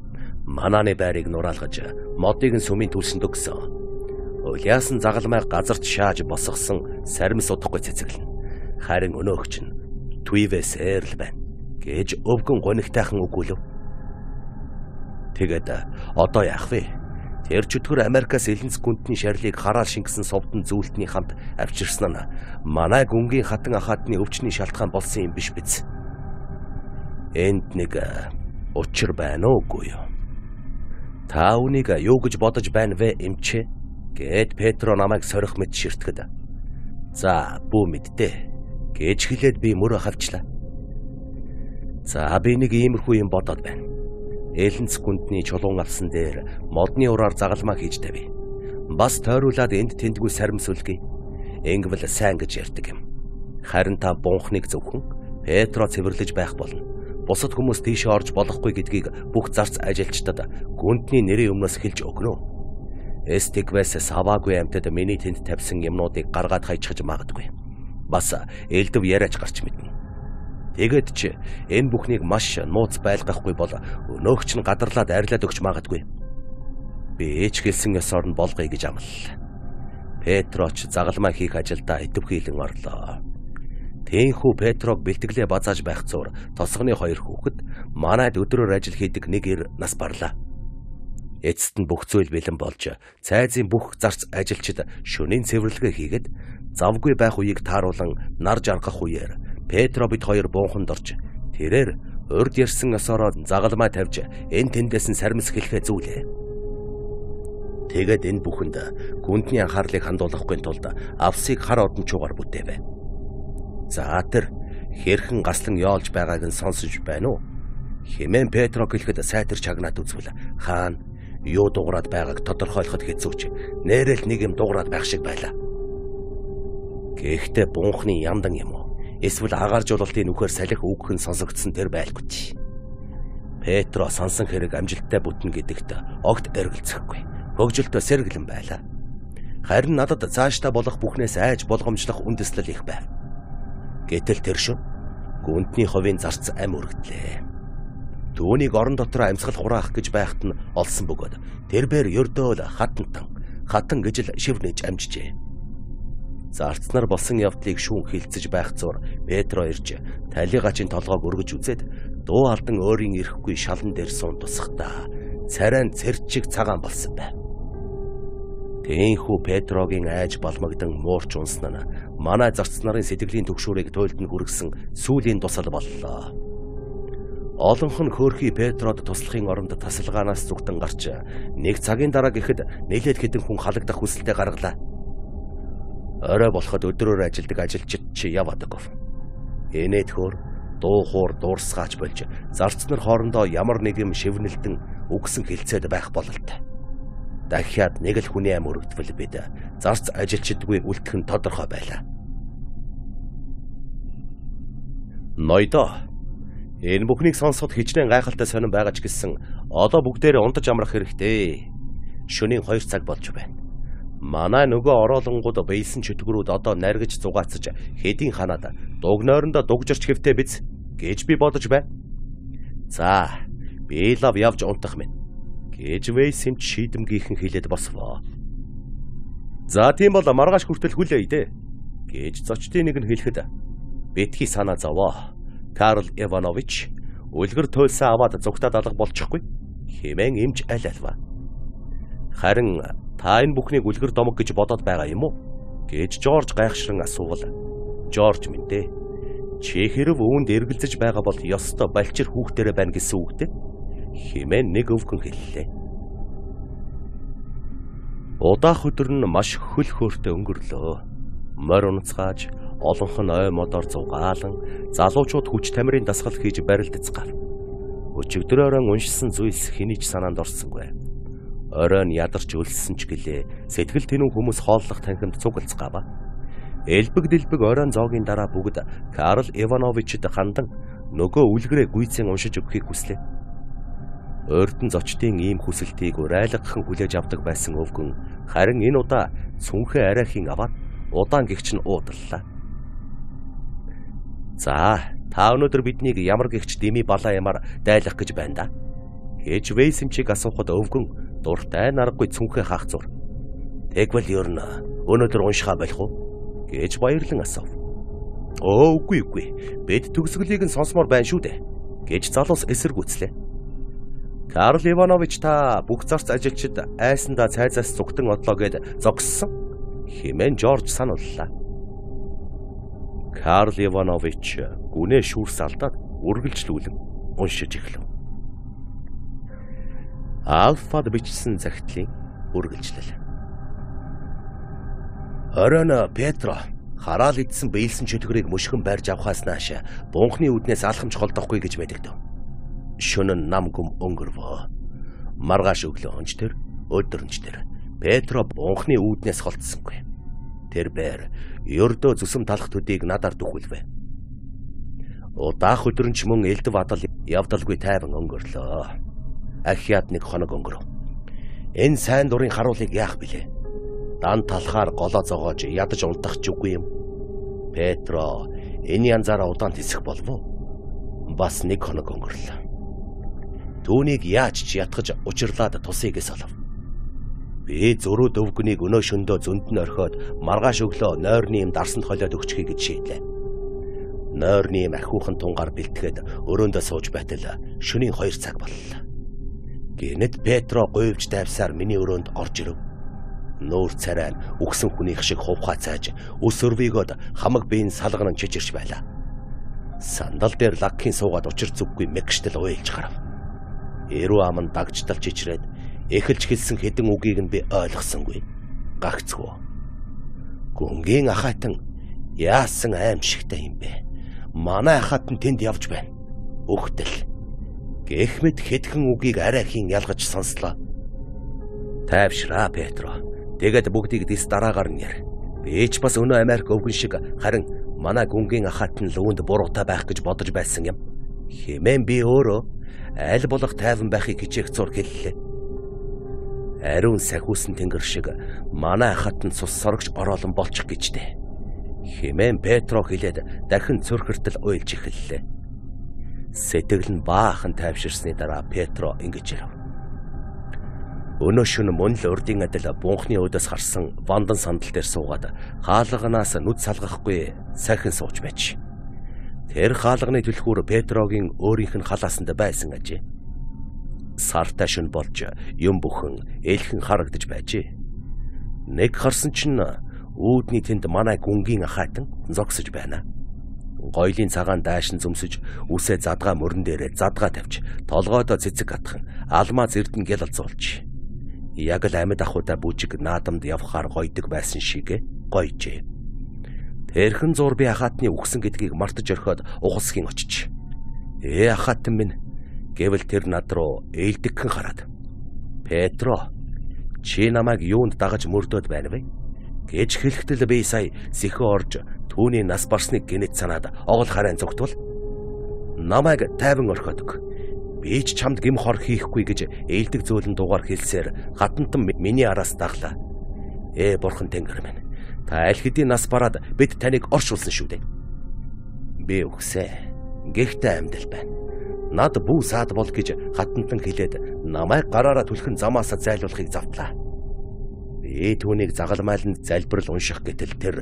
манааны байрыг нураалгаж модыг нь сүмийн түлсэнд өгсөн. Улаасан загалмай газарт шааж босгосон сармис удахгүй цэцэглэн. Харин өнөөгч нь Туивэс эрл байна гэж өвгөн гонигтайхан өгүүлв. Тэгэд одоо яах вэ? Тэр чөтгөр Америкаас элэнц гүнтний шарлыг хараал шингэсэн совдон зүйлтний хамт авчирсан нь манай гүнгийн хатан ахаадны өвчний шалтгаан болсон юм биш биз? Энд нэг учир байна уугүй юу? Та үнийг юу гэж бодож байна вэ эмчээ? Гэт Петро намайг сорих мэт ширтгэд. За бүү мэддээ гэж хэлээд би мөрөө хавчлаа. За би нэг иймэрхүү юм бодоод байна. Элэнц гүндний чулуун авсан дээр модны ураар загалмаа хийж тавь. Бас тойруулаад энд тэндгүй саримсүлгий. Ингэвэл сайн гэж ярьдаг юм. Харин та бунхныг зөвхөн Петро цэвэрлэж байх болно. Бусад хүмүүс тийшээ орж болохгүй гэдгийг бүх зарц ажилчдад гүндний нэрийн өмнөөс хэлж өгнө. Эстигвэс саваагүй амьтад миний тэнд тавьсан юмнуудыг гаргаад хайчихж магадгүй. Бас элдв яриач гарч мэднэ. Тэгэд ч энэ бүхнийг маш нууц байлгахгүй бол өнөөгч нь гадарлаад арилаад өгч магадгүй. Би ээч хэлсэн ёсоор нь болгоё гэж амлаа. Петроч загалмаа хийх ажилдаа идэвхийлэн орлоо. Тээнхүү Петрог бэлтгэлээ базааж байх зуур тосгоны хоёр хүүхэд манайд өдрөөр ажил хийдэг нэг ир нас барлаа. Эцэст нь бүх зүйл бэлэн болж цайзын бүх зарц ажилчид шөнийн цэвэрлэгээ хийгээд завгүй байх үеийг тааруулан нар жаргах үеэр Петро бид хоёр буунханд орж тэрээр урд ярьсан ёсороо загалмаа тавьж энэ тэндээс нь сармис хэлхээ зүйлээ. Тэгээд энэ бүхэнд гүндний анхаарлыг хандуулахгүй тулд авсыг хар одончуугаар бүтээвэ. За тэр хэрхэн гаслан яолж байгааг нь сонсож байна уу? Хэмээн Петро гэлэхэд сайтар чагнаад үзвэл хаана юу дуурайд байгааг тодорхойлоход хэцүүч нэрэл нэг юм дуурайд байх шиг байлаа. Гэхдээ бунхны яндан юм уу? Эсвэл агаар жуулалтын нүхээр салхи үгх нь сонсогдсон тэр байлгүй. Петро сонсон хэрэг амжилттай бүтнэ гэдэгт огт эргэлзэхгүй. Хөгжилтөө сэргэлэн байлаа. Харин надад цаашдаа болох бүхнээс айж болгоомжлох үндэслэл их байв. Гэтэл тэр шөнө гүндний ховын зарц ам өргөдлээ. Түүнийг орон дотор амьсгал хураах гэж байхад нь олсон бөгөөд тэрбээр ердөөл хатантан хатан гэж л шивнэж амжжээ. Зарцнаар болсон явдлыг шүүн хилцэж байх зур Петро ирж талигачийн толгойг өргөж үзээд дуу алдан өөрийн ирэхгүй шалан дээр суун тусахдаа царайн цэрчиг цагаан болсон байв. Тээнхүү Петрогийн айж балмагдан муурч унсан нь манай зарц нарын сэтгэлийн төгшөөрийг туйлд нь хүргэсэн сүүлийн тусал боллоо. Олонх нь хөөрхий Петрод туслахын оронд тасалгаанаас зүгтэн гарч нэг цагийн дараа гэхэд нэлээд хэдэн хүн халагдах хүсэлтэд гаргалаа. Орой болоход өдрөөр ажилдаг ажилчид чи яваадаг. Энэт хөр дуу хуур дуурсгаач болж зарц нар хоорондоо ямар нэг юм шивнэлдэн үгсэн хилцээд байх бололтой. Дахиад нэг л хүний ам өргөдвөл бид зарц ажилчидгүй үлдэх нь тодорхой байлаа. Ноёдоо энэ бүхнийг сонсоход хичнээн гайхалтай сонирн байгаа ч гэсэн одоо бүгдээрээ унтаж амрах хэрэгтэй. Шөнийн хоёр цаг болж байна. Манай нөгөө ороолонгууд бэйсэн чөтгөрүүд одоо наргиж зугаацж хэдийн ханаад дугнойрондоо дугжирч хэвтээ биз гэж би бодож байна. За, би лав явж унтах минь гэж Вэйсэм шийдэмгийнхэн хэлээд босвоо. За тийм бол маргааш хүртэл хүлээе дээ гэж зочдын нэг нь хэлэхэд битгий санаа зовоо. Карл Иванович үлгэр туйлсан аваад зүгтад алга болчихгүй хэмээн эмч аль алва. Харин та энэ бүхнийг үлгэр домог гэж бодоод байгаа юм уу гэж Жорж гайхшран асуувал Жорж минь дээ. Чи хэрв үүнд эргэлзэж байгаа бол ёстой балчир хүүхдэрэ байна гэсэн үгтэй хэмээн нэг өвгөн хэллээ. Удаах өдөр нь маш хөл хөөртэй өнгөрлөө. Морь унацгааж олонх нь ой модоор зугаалan залуучууд хүч тамирын дасгал хийж барилдацгаав. Өчигдрөөрөө уншсан зүйлс хэний ч санаанд орсонгүй. Оройн ядарч өлссөн ч гэлээ сэтгэл тэнүү хүмүүс хооллох танхимд цугалцгаава. Элбэг дэлбэг оройн зоогийн дараа бүгд Карл Ивановичд хандан нөгөө үлгэрээ гүйцэн уншиж өгөхийг хүслээ. Ойртон зочдын ийм хүсэлтийг урайлгахан хүлээж авдаг байсан өвгөн харин энэ удаа цүнхээ арайхийн аваад удаан гихч нь уудлаа. За, та өнөөдөр биднийг ямар гихч дими балаа ямар дайлах гэж байна да? Гэж Вэйсэмчийг асуухад өвгөн дуртай наргагүй цүнхээ хаах зур. Тэгвэл ер нь өнөөдөр уншихаа болох уу? Гэж баярлан асуув. Оо үгүй үгүй. Бид төгсгөлийг нь сонсомоор байна шүү дээ. Гэж залуус эсэргүүцлээ. Карл Иванович та бүх зарц ажилчид айсандаа цайзаас зүгтэн одлоо гэд зогссон хэмээн Жорж санууллаа. Карл Иванович гүнээ шүүрс алдаад үргэлжлүүлэн уншиж эхлэв. Алфад бичсэн захидлын үргэлжлэл. Оройн Петро хараал идсэн бэйлсэн чөтгөрийг мөшгөн барьж авахаас нааш бунхны үднээс алхамж холдохгүй гэж мэдэгдэв. Шөнө нам гүм өнгөрвөө. Маргааш өглөө онч тэр өдөрнч тэр Петро бунхны үүднээс холдсонгүй. Тэр бээр ердөө зүсэм талах төдийг надаар дөхүүлвэ. Удаах өдрөнч мөн элдв адал явдалгүй тайван өнгөрлөө. Ахиад нэг хоног өнгөрөв. Энэ сайн дурын харуулыг яах билээ? Дан талхаар голоо зогоож ядаж унтах ч үгүй юм. Петро энэ янзаараа удаан тисэх болов уу? Бас нэг хоног өнгөрлөө. Түүнийг яаж ч ятгаж учирлаад тусыгээс олов. Би зөрүү дөвгнийг өнөө шөндөө зөнд нь орхиод маргааш өглөө нойрны юм дарсанд холиод өгчихье гэж шийдлээ. Нойрны юм ахиухан тунгаар бэлтгэхэд өрөөндөө сууж байтал шөнийн хоёр цаг боллоо. Гэнэт Петро говьж давсаар миний өрөөнд орж ирэв. Нүүр царай нь үгсэн хүнийх шиг хувхаа цааж өс өрвийгөөд хамаг биеийн салганан чичирч байлаа. Сандал дээр лагхийн суугаад учир зүггүй мэгштэл уйлж гарав. Эрүү ам нь дагжтал чичрээд эхэлж хэлсэн хэдэн үгийг нь би ойлгосонгүй. Гагцгүй. Гүнгийн ахайтан яасан аимшигтай юм бэ? Манай ахайтан тэнд явж байна. Үхтэл. Гэх мэт хэдхэн үгийг арай хийн ялгаж сонслоо. Тайвшраа Петро. Тэгээд бүгдийг дэс дараагаар нь яар. Би ч бас өнөө Америк өвгөн шиг харин манай гүнгийн ахайтан лүүнд буруутай байх гэж бодож байсан юм. Хэмээн би өөрөө аль болох тайван байхыг хичээх зур хэллээ. Ариун сахиусан тэнгэр шиг манай хатан цус сорогч ороолон болчих гэжтэй. Хэмээн Петро хэлээд дахин цөрхөртөл уйлж эхэллээ. Сэтгэл нь баахан тайвширсны дараа Петро ингэж ирв. Өнөө шөнө мөн л урдын адил бунхны өдөөс харсан вандан сандал дээр суугаад хаалганаас нүд салгахгүй сахин сууж байж. Тэр хаалганы түлхүүр Петрогийн өөрийнх нь халаасанд байсан ажээ. Сартай шүн болж юм бүхэн элхэн харагдаж байжээ. Нэг харсан чинь үүдний тэнд манай гүнгийн ахайтан зогсож байна. Гоёлын цагаан даашин зүмсэж үсээ задгаа мөрөн дээрээ задгаа тавьж толгойдоо цэцэг гатхан алмаа зэрдэн гялалзуулж. Яг л амьд ахуйда бүжиг наадамд явхаар гойдог байсан шиг гойжээ. Тэрхэн зур би ахаатны үгсэн гэдгийг мартаж орхиод ухасхийн очиж. Ээ ахаатан минь гэвэл тэр над руу ээлдэгхэн хараад. Петро, чи намайг юунд дагаж мөрдөөд байна вэ? Гэж хэлэхдээ би сая сэхэ орж түүний нас барсныг гинэт санаад оол харайн зүгтвэл намайг тайван орхиодог. Би ч чамд гим хор хийхгүй гэж ээлдэг зөөлөн дугаар хэлсээр хатантан миний араас даглаа. Ээ бурхан тэнгэр минь. Та аль хэдийн нас бараад бид таныг оршуулсан шүү дээ. Би үгсээ. Гэхдээ амьдал байна. Над бүү саад бол гэж хатантан хэлээд намайг гараараа түлхэн замаасаа зайлуулахыг завтлаа. Би түүнийг загалмайланд залбирал унших гэтэл тэр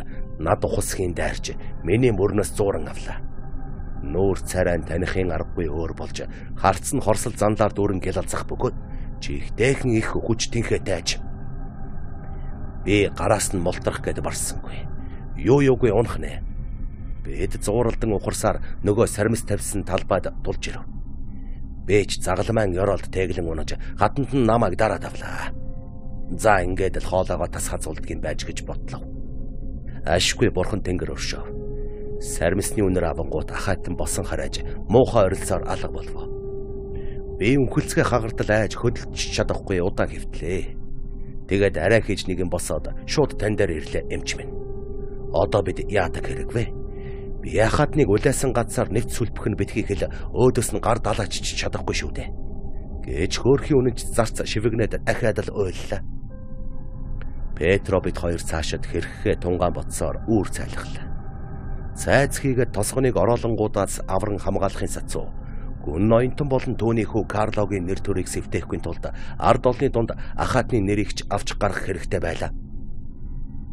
над ухасхийн дайрч миний мөрнөөс зууран авлаа. Нүүр царайн танихын аргагүй өөр болж харц нь хорсол занлаар дүүрэн гялалзах бөгөөд чихтэйхэн их хүч тэнхээ дайж. Би гараас нь молтрох гэд барсангүй. Юу юугүй унах нэ. Бид зууралдан ухарсаар нөгөө сармис тавьсан талбайд дулж ирв. Бэж загалмайн ёроолд тэглэн унаж хатанд нь намайг дараад авлаа. За ингээд л хоолоогоо тасгаа зулдгийг байж гэж бодлоо. Ашгүй бурхан тэнгэр өршөө. Сармисны үнэр авангууд ахайтан босон харааж муухай орилсоор алга болов. Би үнхэлцгээ хагартал айж хөдөлж чадахгүй удаан хэвтлээ. Тэгээд арай хийж нэг юм босоод шууд тань дээр ирлээ эмч минь. Одоо бид яадаг хэрэгвэ? Би яхад нэг улайсан газар нэвт сүлбэх нь битгий хэл өөдөөс нь гар далаач чадахгүй шүү дээ. Гэж хөөрхийн үнэнч зарц шивэгнээд дахиад л уйллаа. Петро бид хоёр цаашид хэрхээ тунгаан ботсоор үүр цайлглаа. Цайз хийгээд тосгоныг ороолонгуудаас авран хамгаалахын сацуу гүн ноёнтон болон түүний хүү Карлогийн нэр төрийг сэвтэхгүй тулд ард олны дунд ахаатны нэрийг ч авч гарах хэрэгтэй байлаа.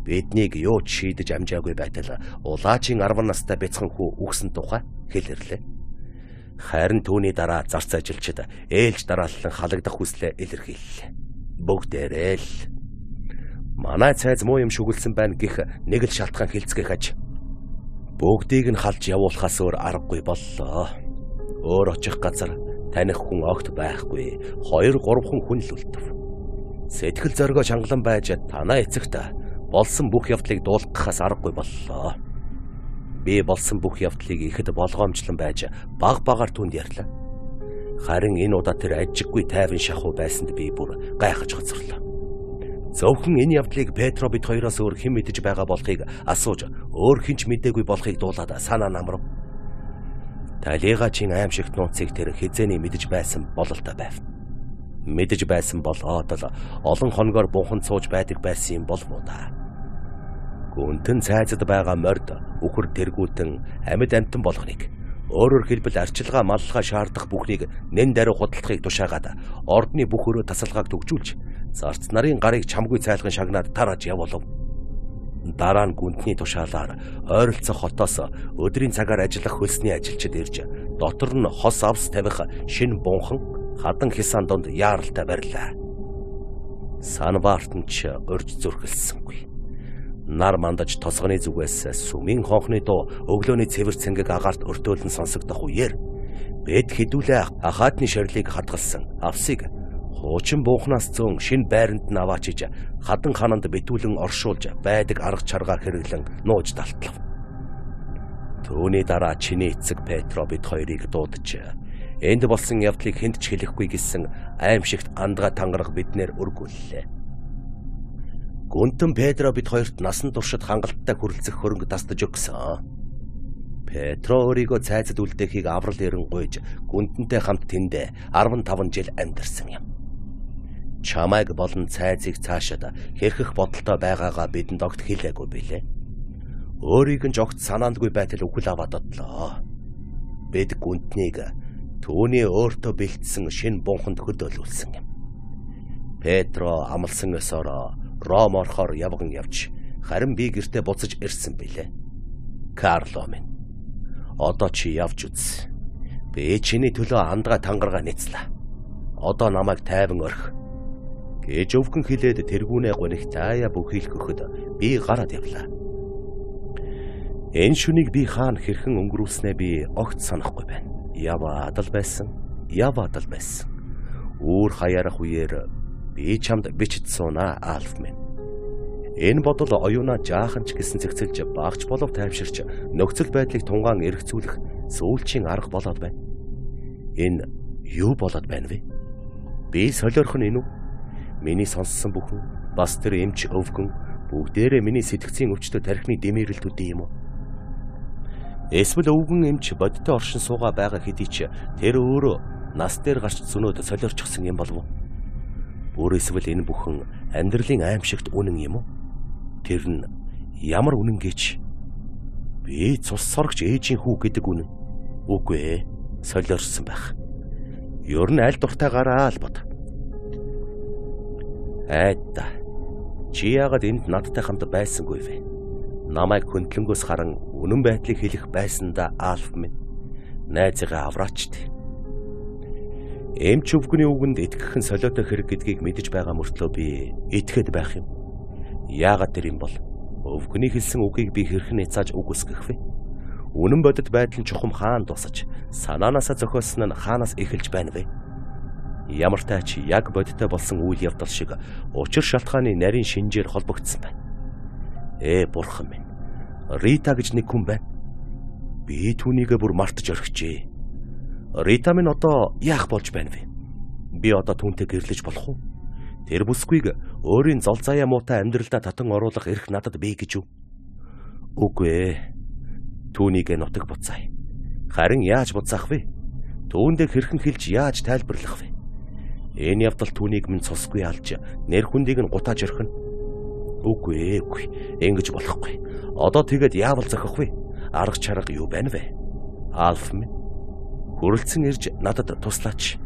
Биднийг юу ч шийдэж амжаагүй байтал улаачийн арван настай бяцхан хүү үгсэн тухай хэлэрлээ. Харин түүний дараа зарц ажилчид ээлж дарааллан халагдах хүслээ илэрхийллээ. Бүгдээрээ л манай цайз муу юм шүглсэн байна гэх нэг л шалтгаан хэлцгээх аж. Бүгдийг нь халж явуулахаас өөр аргагүй боллоо. Өөр очих газар таних хүн огт байхгүй. Хоёр гурван хүн л үлдэв. Сэтгэл зоригоо чангалан байж танаа эцэгт болсон бүх явдлыг дуулгахаас аргагүй боллоо. Би болсон бүх явдлыг ихэд болгоомжлон байж баг багаар түнд ярьлаа. Харин энэ удаа тэр ажиггүй тайван шахуу байсанд би бүр гайхаж хоцорлоо. Зөвхөн энэ явдлыг Петро бид хоёроос өөр хэн мэдэж байгаа болохыг асууж өөр хинч мэдээгүй болохыг дуулаад санаа намрав. Талигачин аимшигт нууцыг тэр хизээний мэдэж байсан бололтой байв. Мэдэж байсан бол одол олон хоногор бунхан сууж байдаг байсан юм болов уу та. Гүнтэн цайзад байгаа морд үхэр тэргүүлтэн амьд амтан болгоныг өөрөөр хэлбэл арчилгаа маллага шаардах бүхнийг нэн даруй худалдахыг тушаагаад ордны бүх өрөө тасалгааг төгжүүлж зарц нарын гарыг чамгүй цайлган шагнаад тарааж явуулав. Дараа нь гүнтний тушаалаар ойролцох хотоос өдрийн цагаар ажиллах хөлсний ажилчид ирж дотор нь хос авс тавих шинэ бунхан хадан хясаан донд яаралтай барилаа. Санбаартан ч урьж зүрхэлсэнгүй. Нар мандаж тосгоны зүгээс сүмийн хонхны дуу өглөөний цэвэр цэнгэг агаарт өртөөлн сонсогдох үеэр бед хідүүлээ ахаатны шарлыг хадгалсан авсыг хуучин буухнаас зөөн шинэ байранд нь аваачиж хадан хананд битүүлэн оршуулж байдаг арга чаргаа хэрэглэн нууж далтлав. Түүний дараа чиний эцэг Петро бид хоёрыг дуудаж энд болсон явдлыг хэнд ч хэлэхгүй гэсэн аимшигт андгаа тангараг биднэр өргүүллээ. Гүнтэн Петро бид хоёрт насан туршид хангалттай хүрэлцэх хөрөнгө тасдаж өгсөн. Петро өөрийгөө цайзад үлдээхийг аврал эрен гуйж гүнтэнтэй хамт тэндэ арван таван жил амьдарсан юм. Чамайг болон цайзыг цаашаад хэрхэх бодолтой байгаагаа бидэнд огт хэлээгүй билээ. Өөрийг нь жогт санаандгүй байтал үхэл аваад одлоо. Бид гүнтнийг түүний өөртөө бэлдсэн шинэ бунханд хөдөөлүүлсэн юм. Петро амлсан ёсоор Ром орохоор явган явж харин би гэртээ буцаж ирсэн билээ. Карло минь. Одоо чи явж үз. Би чиний төлөө андгаа тангараа нийцлээ. Одоо намайг тайван орхи. Гэж өвгөн хилээд тэргүүнээ гонигт аяа бүхийлэх өгөхөд би гараад явлаа. Энэ шүнийг би хаана хэрхэн өнгөрүүлснээ би огт санахгүй байна. Яваад л байсан. Яваад л байсан. Үүр хаяарах үеэр би чамд бичиж суунаа Альф минь. Энэ бодол оюунаа жаахан ч гэсэн цэгцэлж багч болов таймширч нөхцөл байдлыг тунгаан эргцүүлэх сүүлчийн арга болоод байна. Энэ юу болоод байна вэ? Би солиорхон энэ үү? Миний сонссон бүхэн бас тэр эмч өвгөн бүгдээрээ миний сэтгцийн өвчтөд тархины дэмэрэлтүүд юм уу? Эсвэл өвгөн эмч бодтой оршин суугаа байгаа хэдий ч тэр өөрөө нас дээр гарч зөнөөд солиорчсон юм болов уу? Өөр эсвэл энэ бүхэн амьдралын аимшигт үнэн юм уу? Тэр нь ямар үнэн гэж? Би цус соргч ээжийн хүү гэдэг үнэн. Үгүй ээ, солиорсон байх. Ер нь аль дуртайгаараа л бод. Айда. Чи яагаад энд надтай хамт байсангүй вэ? Намайг хөндлөнгөөс харан үнэн байдлыг хэлэх байсандаа Альф минь. Найзыгаа авраач тий. Эмч өвгөний үгэнд итгэхэн солиотой хэрэг гэдгийг мэдэж байгаа мөртлөө би итгэхэд байх юм. Яагаад тэр юм бол? Өвгөний хэлсэн үгийг би хэрхэн няцааж үг үсгэх вэ? Үнэн бодит байдал нь чухам хаан тусаж, санаанаасаа зохиосон нь хаанаас эхэлж байна вэ? Ямар тач яг бодиттой болсон үйл явдал шиг учир шалтгааны нарийн шинжээр холбогдсон байна. Ээ бурхан минь. Рита гэж нэг хүн байна. Би түүнийг бүр мартаж орхижээ. Рита минь одоо яах болж байна вэ? Би одоо түүнтэй гэрлэж болох уу? Тэр бүсгүйг өөрийн зол заяа муутай амьдралдаа татан оруулах эрх надад бий гэж үү? Үгүй ээ. Түүнийг нутаг буцаая. Харин яаж буцаах вэ? Түүндээ хэрхэн хэлж яаж тайлбарлах вэ? Энэ явдал түүнийг минь цусгүй алж нэр хүндийг нь гутааж орхино. Үгүй ээ, үгүй. Ингэж болохгүй. Одоо тэгээд яавал зохих вэ? Арга чарга юу байна вэ? Альф минь. Хүрэлцэн ирж надад туслаач.